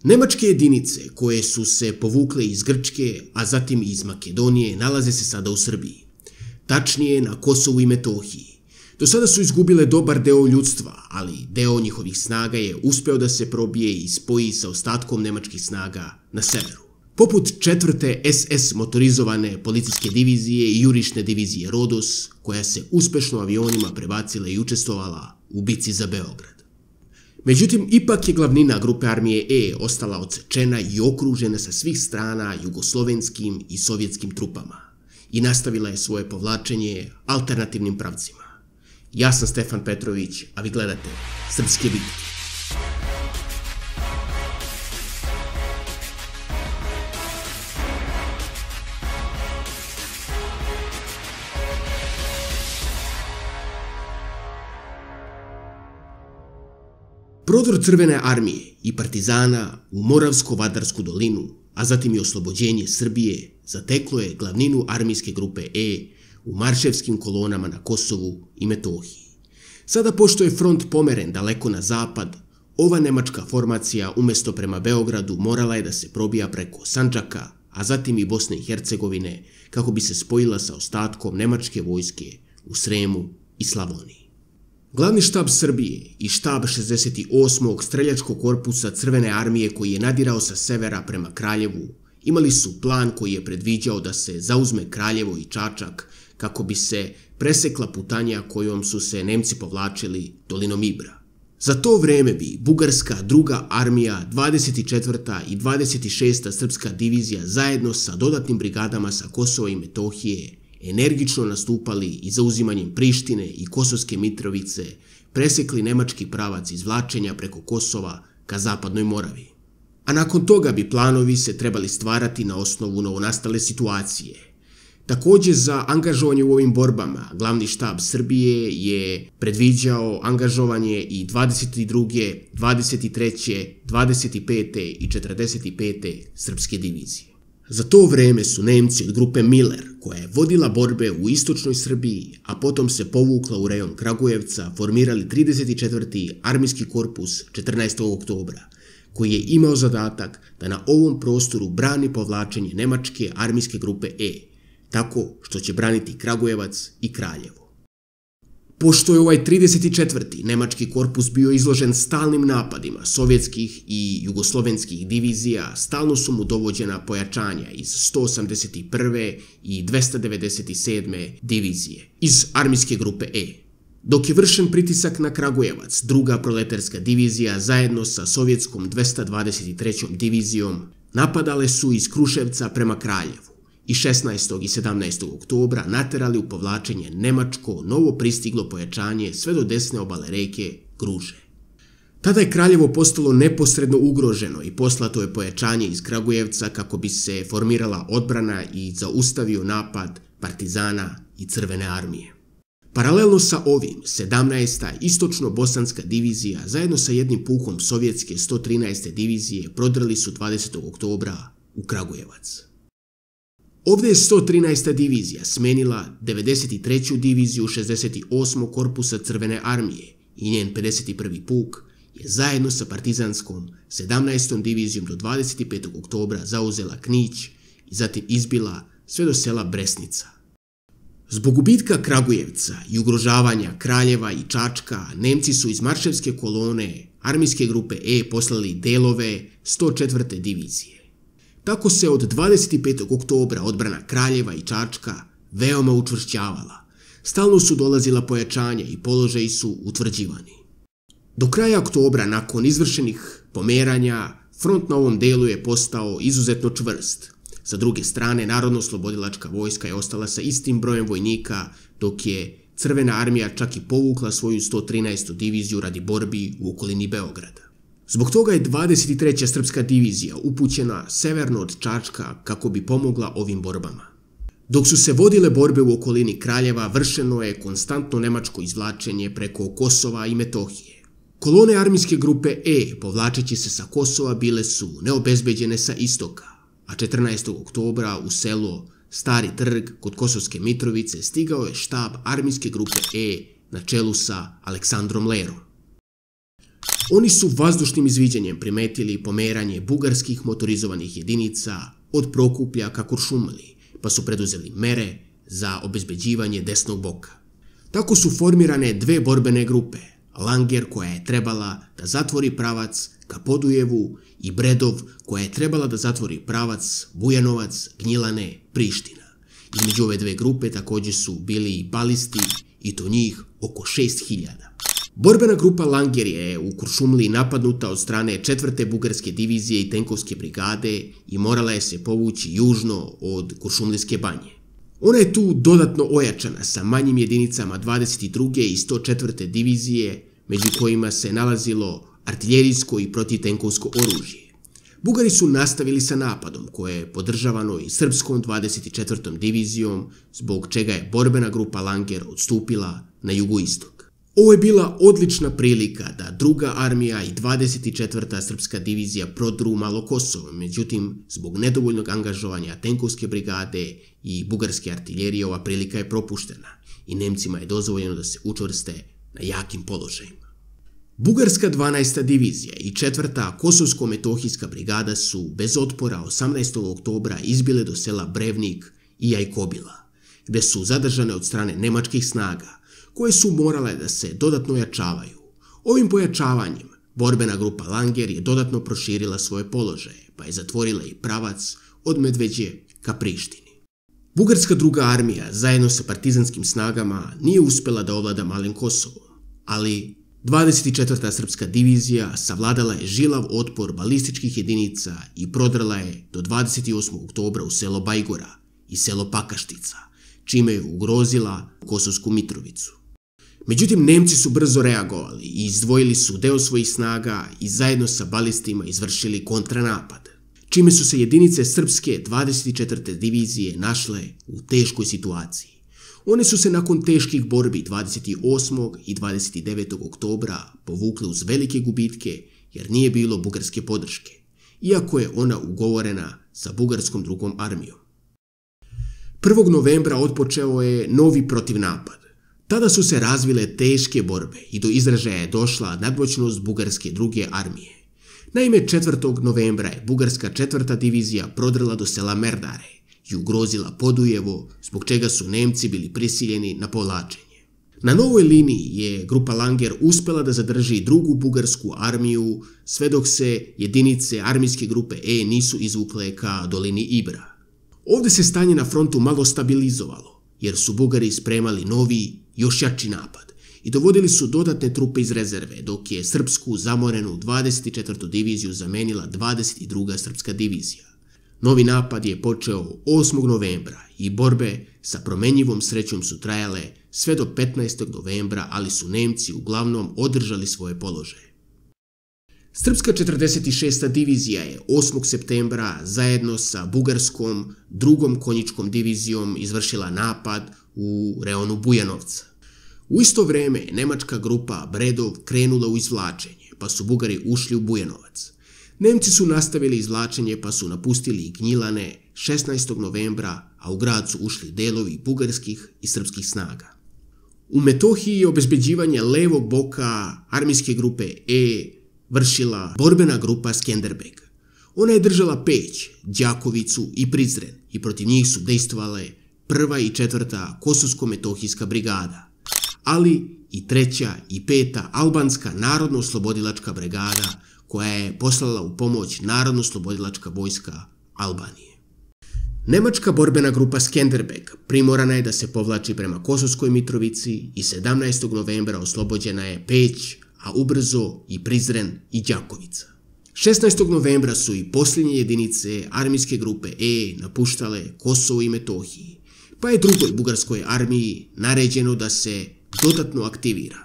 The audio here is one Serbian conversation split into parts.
Nemačke jedinice koje su se povukle iz Grčke, a zatim i iz Makedonije, nalaze se sada u Srbiji. Tačnije na Kosovu i Metohiji. Do sada su izgubile dobar deo ljudstva, ali deo njihovih snaga je uspeo da se probije i spoji sa ostatkom nemačkih snaga na severu. Poput 4. SS motorizovane policijske divizije i jurišne divizije Rodos, koja se uspešno avionima prebacila i učestvovala u bici za Beograd. Međutim, ipak je glavnina grupe armije E ostala odsečena i okružena sa svih strana jugoslovenskim i sovjetskim trupama i nastavila je svoje povlačenje alternativnim pravcima. Ja sam Stefan Petrović, a vi gledate Srpske bitke. Prodor Crvene armije i partizana u Moravsko-Vadarsku dolinu, a zatim i oslobođenje Srbije, zateklo je glavninu armijske grupe E u marševskim kolonama na Kosovu i Metohiji. Sada, pošto je front pomeren daleko na zapad, ova nemačka formacija umjesto prema Beogradu morala je da se probija preko Sandžaka, a zatim i Bosne i Hercegovine, kako bi se spojila sa ostatkom nemačke vojske u Sremu i Slavoniji. Glavni štab Srbije i štab 68. streljačkog korpusa Crvene armije, koji je nadirao sa severa prema Kraljevu, imali su plan koji je predviđao da se zauzme Kraljevo i Čačak kako bi se presekla putanja kojom su se Nemci povlačili dolinom Ibra. Za to vreme bi Bugarska druga armija, 24. i 26. srpska divizija zajedno sa dodatnim brigadama sa Kosova i Metohije energično nastupali i zauzimanjem Prištine i Kosovske Mitrovice presekli nemački pravac izvlačenja preko Kosova ka zapadnoj Moravi. A nakon toga bi planovi se trebali stvarati na osnovu novonastale situacije. Također, za angažovanje u ovim borbama glavni štab Srbije je predviđao angažovanje i 22., 23., 25. i 45. srpske divizije. Za to vreme su Nemci od grupe Miller, koja je vodila borbe u istočnoj Srbiji, a potom se povukla u rejon Kragujevca, formirali 34. armijski korpus 14. oktobra, koji je imao zadatak da na ovom prostoru brani povlačenje nemačke armijske grupe E, tako što će braniti Kragujevac i Kraljevo. Pošto je ovaj 34. nemački korpus bio izložen stalnim napadima sovjetskih i jugoslovenskih divizija, stalno su mu dovođena pojačanja iz 181. i 297. divizije iz armijske grupe E. Dok je vršen pritisak na Kragujevac, druga proletarska divizija zajedno sa sovjetskom 223. divizijom napadale su iz Kruševca prema Kraljevu i 16. i 17. oktobra naterali u povlačenje nemačko novo pristiglo pojačanje sve do desne obale reke Gruže. Tada je Kraljevo postalo neposredno ugroženo i poslato je pojačanje iz Kragujevca kako bi se formirala odbrana i zaustavio napad partizana i Crvene armije. Paralelno sa ovim, 17. istočno-bosanska divizija zajedno sa jednim pukom sovjetske 113. divizije prodrli su 20. oktobra u Kragujevac. Ovdje je 113. divizija smenila 93. diviziju 68. korpusa Crvene armije i njen 51. puk je zajedno sa partizanskom 17. divizijom do 25. oktobra zauzela Knić i zatim izbila sve do sela Bresnica. Zbog gubitka Kragujevca i ugrožavanja Kraljeva i Čačka, Nemci su iz marševske kolone armijske grupe E poslali delove 104. divizije. Tako se od 25. oktobra odbrana Kraljeva i Čačka veoma učvršćavala. Stalno su dolazila pojačanja i položaji su utvrđivani. Do kraja oktobra, nakon izvršenih pomeranja, front na ovom delu je postao izuzetno čvrst. Sa druge strane, Narodno-oslobodilačka vojska je ostala sa istim brojem vojnika, dok je Crvena armija čak i povukla svoju 113. diviziju radi borbi u okolini Beograda. Zbog toga je 23. srpska divizija upućena severno od Čačka kako bi pomogla ovim borbama. Dok su se vodile borbe u okolini Kraljeva, vršeno je konstantno nemačko izvlačenje preko Kosova i Metohije. Kolone armijske grupe E, povlačeći se sa Kosova, bile su neobezbeđene sa istoka, a 14. oktobra u selo Stari Trg kod Kosovske Mitrovice stigao je štab armijske grupe E na čelu sa Aleksandrom Lerom. Oni su vazdušnim izviđanjem primetili pomeranje bugarskih motorizovanih jedinica od Prokuplja ka Kuršumliji, pa su preduzeli mere za obezbeđivanje desnog boka. Tako su formirane dve borbene grupe, Langer koja je trebala da zatvori pravac ka Podujevu i Bredov koja je trebala da zatvori pravac Bujanovac, Gnjilane, Priština. Između ove dve grupe također su bili i balisti i to njih oko 6000. Borbena grupa Langer je u Kuršumliji napadnuta od strane 4. bugarske divizije i tenkovske brigade i morala je se povući južno od Kuršumlijske banje. Ona je tu dodatno ojačana sa manjim jedinicama 22. i 104. divizije, među kojima se nalazilo artiljerijsko i protitenkovsko oružje. Bugari su nastavili sa napadom koje je podržavano i srpskom 24. divizijom, zbog čega je borbena grupa Langer odstupila na jugoistok. Ovo je bila odlična prilika da druga armija i 24. srpska divizija prodru malo Kosovo, međutim, zbog nedovoljnog angažovanja tenkovske brigade i bugarske artiljerije ova prilika je propuštena i Nemcima je dozvoljeno da se učvrste na jakim položajima. Bugarska 12. divizija i 4. Kosovsko-metohijska brigada su bez otpora 18. oktobra izbile do sela Brevnik i Jajkobila, gde su zadržane od strane nemačkih snaga, koje su morale da se dodatno ojačavaju. Ovim pojačavanjem borbena grupa Langer je dodatno proširila svoje položaje, pa je zatvorila i pravac od Medveđe ka Prištini. Bugarska druga armija zajedno sa partizanskim snagama nije uspela da ovlada Malim Kosovom, ali 24. srpska divizija savladala je žilav otpor balističkih jedinica i prodrala je do 28. oktobra u selo Bajgora i selo Pakaštica, čime je ugrozila Kosovsku Mitrovicu. Međutim, Nemci su brzo reagovali i izdvojili su deo svojih snaga i zajedno sa balistima izvršili kontranapad, čime su se jedinice srpske 24. divizije našle u teškoj situaciji. One su se nakon teških borbi 28. i 29. oktobra povukle uz velike gubitke jer nije bilo bugarske podrške, iako je ona ugovorena sa bugarskom drugom armijom. 1. novembra otpočeo je novi protivnapad. Tada su se razvile teške borbe i do izražaja je došla nadmoćnost bugarske druge armije. Naime, 4. novembra je bugarska 4. divizija prodrla do sela Merdare i ugrozila Podujevo, zbog čega su Nemci bili prisiljeni na povlačenje. Na novoj liniji je grupa Langer uspela da zadrži drugu bugarsku armiju sve dok se jedinice armijske grupe E nisu izvukle ka dolini Ibra. Ovdje se stanje na frontu malo stabilizovalo, jer su Bugari spremali novi, još jači napad i dovodili su dodatne trupe iz rezerve, dok je srpsku zamorenu 24. diviziju zamenila 22. srpska divizija. Novi napad je počeo 8. novembra i borbe sa promenjivom srećom su trajale sve do 15. novembra, ali su Nemci uglavnom održali svoje položaje. Srpska 46. divizija je 8. septembra zajedno sa bugarskom 2. konjičkom divizijom izvršila napad u reonu Bujanovca. U isto vreme nemačka grupa Bredov krenula u izvlačenje, pa su Bugari ušli u Bujanovac. Nemci su nastavili izvlačenje pa su napustili Gnjilane 16. novembra, a u grad su ušli delovi bugarskih i srpskih snaga. U Metohiji je obezbeđivanje levog boka armijske grupe E vršila borbena grupa Skenderbeg. Ona je držala Peć, Đakovicu i Prizren i protiv njih su dejstvovale 1. i 4. Kosovsko-metohijska brigada, ali i 3. i 5. albanska narodno-oslobodilačka brigada koja je poslala u pomoć narodno-oslobodilačka vojska Albanije. Nemačka borbena grupa Skenderbeg primorana je da se povlači prema Kosovskoj Mitrovici i 17. novembra oslobođena je Peć, a ubrzo i Prizren i Đakovica. 16. novembra su i posljednje jedinice armijske grupe E napuštale Kosovo i Metohiji, pa je drugoj bugarskoj armiji naređeno da se dodatno aktivira.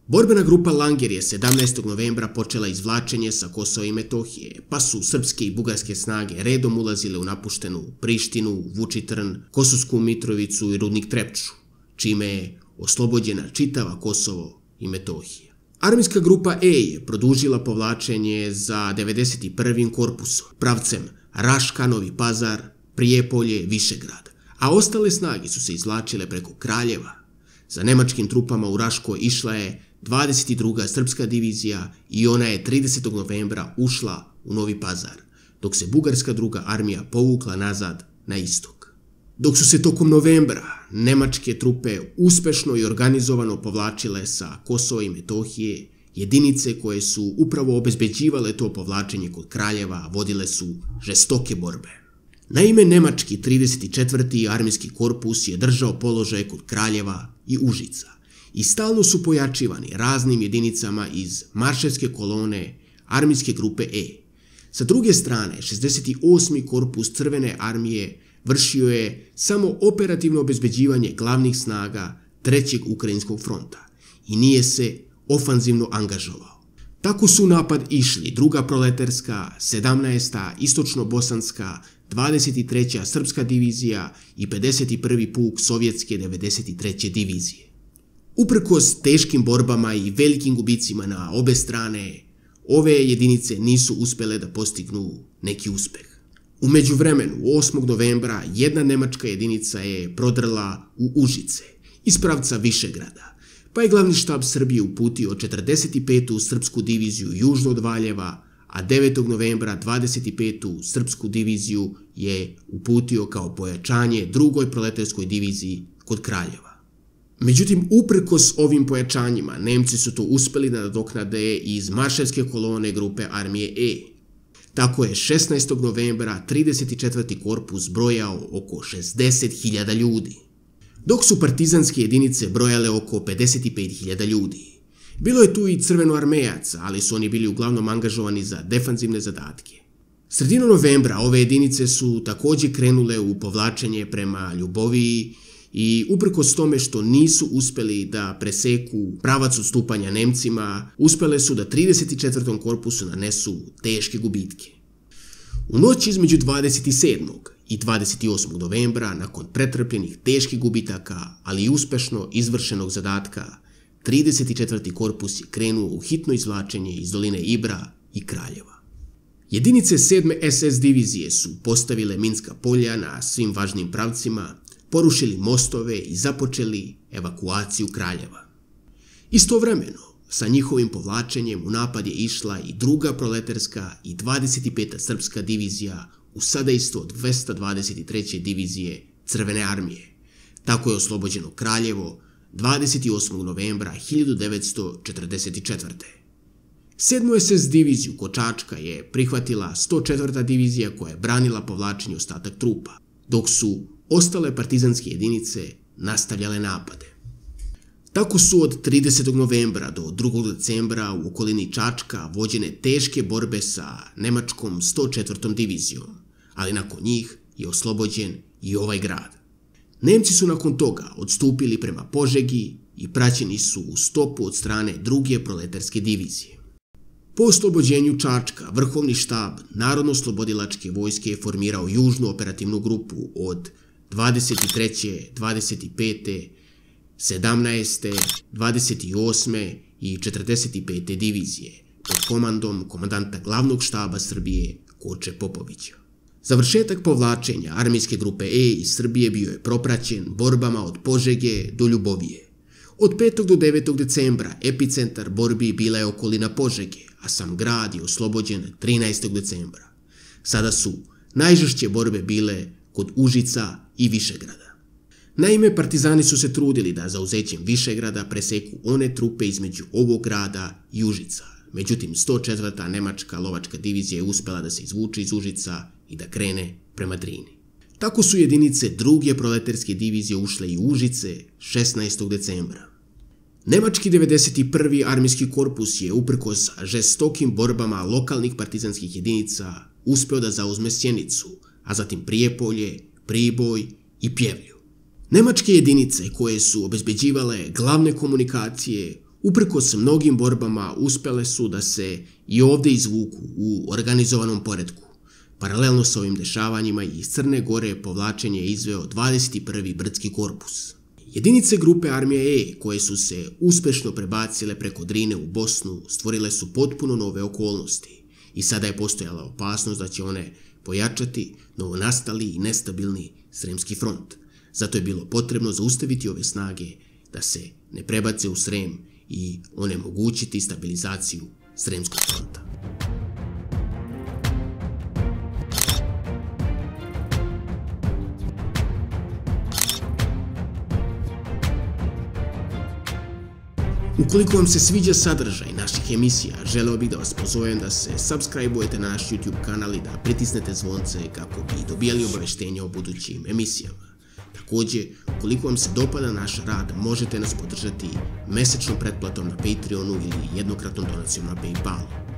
Borbena grupa Langer je 17. novembra počela izvlačenje sa Kosova i Metohije, pa su srpske i bugarske snage redom ulazile u napuštenu Prištinu, Vučitrn, Kosovsku Mitrovicu i rudnik Trepču, čime je oslobođena čitava Kosovo i Metohija. Armijska grupa E je produžila povlačenje za 91. korpusom, pravcem Raška, Novi Pazar, Prijepolje, Višegrad, a ostale snage su se izvlačile preko Kraljeva. Za nemačkim trupama u Raškoj išla je 22. srpska divizija i ona je 30. novembra ušla u Novi Pazar, dok se bugarska druga armija povukla nazad na istok. Dok su se tokom novembra nemačke trupe uspešno i organizovano povlačile sa Kosova i Metohije, jedinice koje su upravo obezbeđivale to povlačenje kod Kraljeva vodile su žestoke borbe. Naime, nemački 34. armijski korpus je držao položaje kod Kraljeva i Užica i stalno su pojačivani raznim jedinicama iz marševske kolone armijske grupe E. Sa druge strane, 68. korpus Crvene armije vršio je samo operativno obezbeđivanje glavnih snaga Trećeg Ukrajinskog fronta i nije se ofanzivno angažovao. Tako su u napad išli Druga proletarska, 17. istočno-bosanska, 23. srpska divizija i 51. puk sovjetske 93. divizije. Uprkos teškim borbama i velikim gubicima na obe strane, ove jedinice nisu uspele da postignu neki uspeh. U međuvremenu, 8. novembra, jedna nemačka jedinica je prodrla u Užice iz pravca Višegrada, pa je glavni štab Srbije uputio 45. srpsku diviziju južno od Valjeva, a 9. novembra 25. srpsku diviziju je uputio kao pojačanje drugoj proletarskoj diviziji kod Kraljeva. Međutim, uprkos ovim pojačanjima, Nemci su to uspeli da nadoknade iz marševske kolone grupe armije E. Tako je 16. novembra 34. korpus brojao oko 60.000 ljudi, dok su partizanske jedinice brojale oko 55.000 ljudi. Bilo je tu i crvenoarmejaca, ali su oni bili uglavnom angažovani za defanzivne zadatke. Sredinom novembra ove jedinice su također krenule u povlačenje prema Ljuboviji i uprkos tome što nisu uspeli da preseku pravac odstupanja Nemcima, uspele su da 34. korpusu nanesu teške gubitke. U noći između 27. i 28. novembra, nakon pretrpljenih teških gubitaka, ali i uspešno izvršenog zadatka, 34. korpus je krenuo u hitno izvlačenje iz doline Ibra i Kraljeva. Jedinice 7. SS divizije su postavile minska polja na svim važnim pravcima, porušili mostove i započeli evakuaciju Kraljeva. Istovremeno, sa njihovim povlačenjem u napad je išla i druga proletarska i 25. srpska divizija u sadejstvo od 223. divizije Crvene armije. Tako je oslobođeno Kraljevo 28. novembra 1944. 7. SS diviziju kod Čačka je prihvatila 104. divizija koja je branila povlačenje ostatak trupa, dok su ostale partizanske jedinice nastavljale napade. Tako su od 30. novembra do 2. decembra u okolini Čačka vođene teške borbe sa nemačkom 104. divizijom, ali nakon njih je oslobođen i ovaj grad. Nemci su nakon toga odstupili prema Požegi i praćeni su u stopu od strane druge proletarske divizije. Po oslobođenju Čačka, vrhovni štab Narodno-oslobodilačke vojske je formirao južnu operativnu grupu od 23., 25., 17., 28. i 45. divizije pod komandom komandanta glavnog štaba Srbije Koče Popovića. Završetak povlačenja armijske grupe E iz Srbije bio je propraćen borbama od Požege do Ljubovije. Od 5. do 9. decembra epicentar borbi bila je okolina Požege, a sam grad je oslobođen 13. decembra. Sada su najžešće borbe bile kod Užica i Višegrada. Naime, partizani su se trudili da zauzećem Višegrada preseku one trupe između ovog grada i Užica. Međutim, 104. nemačka lovačka divizija je uspela da se izvuče iz Užica i da krene prema Drini. Tako su jedinice druge proletarske divizije ušle i u Užice 16. decembra. Nemački 91. armijski korpus je uprkos žestokim borbama lokalnih partizanskih jedinica uspeo da zauzme Sjenicu, a zatim Prijepolje, Priboj i Pjevlju. Nemačke jedinice koje su obezbeđivale glavne komunikacije uprkos mnogim borbama uspele su da se i ovde izvuku u organizovanom poretku. Paralelno sa ovim dešavanjima iz Crne Gore povlačenje je izveo 21. brdski korpus. Jedinice grupe armije E koje su se uspešno prebacile preko Drine u Bosnu stvorile su potpuno nove okolnosti i sada je postojala opasnost da će one pojačati novonastali i nestabilni Sremski front. Zato je bilo potrebno zaustaviti ove snage da se ne prebace u Srem i onemogućiti stabilizaciju Sremskog fronta. Ukoliko vam se sviđa sadržaj naših emisija, želeo bih da vas pozovem da se subscribe-ujete na naš YouTube kanal i da pritisnete zvonce kako bi dobijali obaveštenja o budućim emisijama. Također, ukoliko vam se dopada naš rad, možete nas podržati mesečnom pretplatom na Patreonu ili jednokratnom donacijom na PayPalu.